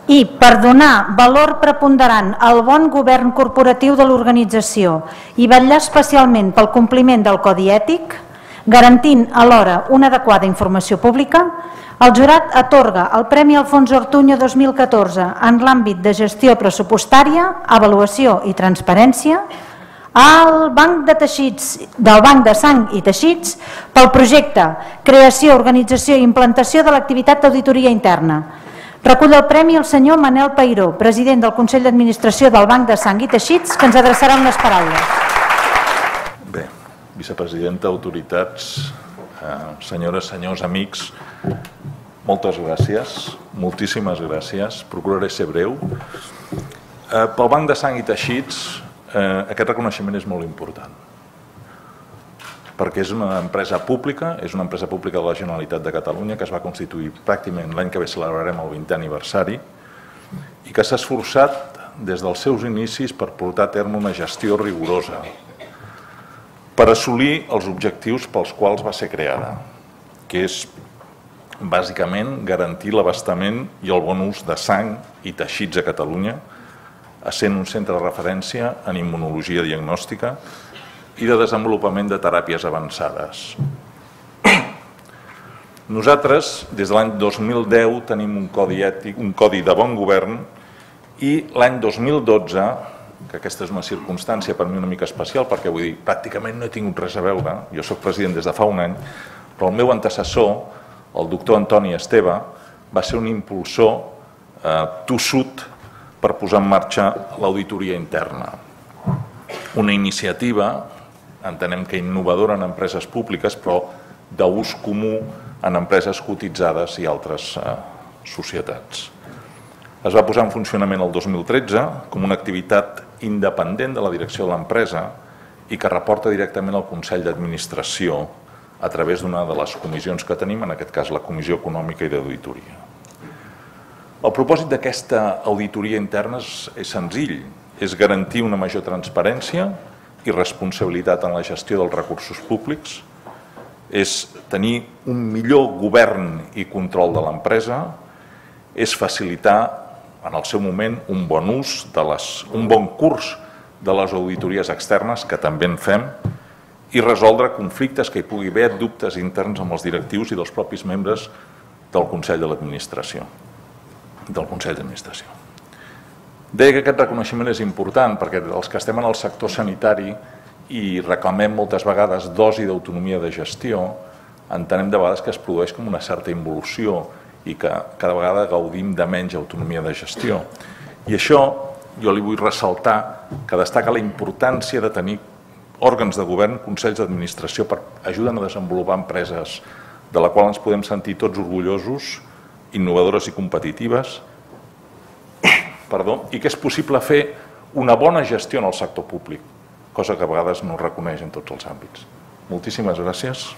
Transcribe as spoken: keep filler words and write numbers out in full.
i per donar valor preponderant al bon govern corporatiu de l'organització i vetllar especialment pel compliment del codi ètic, garantint alhora una adequada informació pública, el jurat atorga el Premi Alfonso Ortuño dos mil catorze en l'àmbit de gestió pressupostària, avaluació i transparència al Banc de Teixits, del Banc de Sang i Teixits pel projecte Creació, Organització i Implantació de l'activitat d'auditoria interna. Recull el premi el senyor Manel Peiró, president del Consell d'Administració del Banc de Sang i Teixits, que ens adreçarà unes paraules. Bé, vicepresidenta, autoritats, senyores, senyors, amics, moltes gràcies, moltíssimes gràcies. Procuraré ser breu. Pel Banc de Sang i Teixits, aquest reconeixement és molt important, perquè és una empresa pública, és una empresa pública de la Generalitat de Catalunya que es va constituir pràcticament l'any que ve celebrarem el vintè aniversari i que s'ha esforçat des dels seus inicis per portar a terme una gestió rigorosa per assolir els objectius pels quals va ser creada, que és bàsicament garantir l'abastament i el bon ús de sang i teixits a Catalunya, essent un centre de referència en immunologia diagnòstica i de desenvolupament de teràpies avançades. Nosaltres, des de l'any dos mil deu, tenim un codi ètic, un codi de bon govern, i l'any dos mil dotze, que aquesta és una circumstància per mi una mica especial, perquè vull dir, pràcticament no he tingut res a veure, jo soc president des de fa un any, però el meu antecessor, el doctor Antoni Esteve, va ser un impulsor eh, tossut per posar en marxa l'auditoria interna. Una iniciativa, entenem que innovadora en empreses públiques, però d'ús comú en empreses cotitzades i altres eh, societats. Es va posar en funcionament el dos mil tretze com una activitat independent de la direcció de l'empresa i que reporta directament al Consell d'Administració a través d'una de les comissions que tenim, en aquest cas la Comissió Econòmica i d'Auditoria. El propòsit d'aquesta auditoria interna és, és senzill, és garantir una major transparència i responsabilitat en la gestió dels recursos públics, és tenir un millor govern i control de l'empresa, és facilitar en el seu moment un bon ús, de les, un bon curs de les auditories externes, que també en fem, i resoldre conflictes que hi pugui haver, dubtes interns amb els directius i dels propis membres del Consell de l'Administració. del Consell d'Administració. Deia que aquest reconeixement és important perquè els que estem en el sector sanitari i reclamem moltes vegades dosi d'autonomia de gestió, entenem de vegades que es produeix com una certa involució i que cada vegada gaudim de menys autonomia de gestió. I això jo li vull ressaltar que destaca la importància de tenir òrgans de govern, consells d'administració, per ajudar a desenvolupar empreses de la qual ens podem sentir tots orgullosos, innovadores i competitives, perdó, i que és possible fer una bona gestió en el sector públic, cosa que a vegades no es reconeix en tots els àmbits. Moltíssimes gràcies.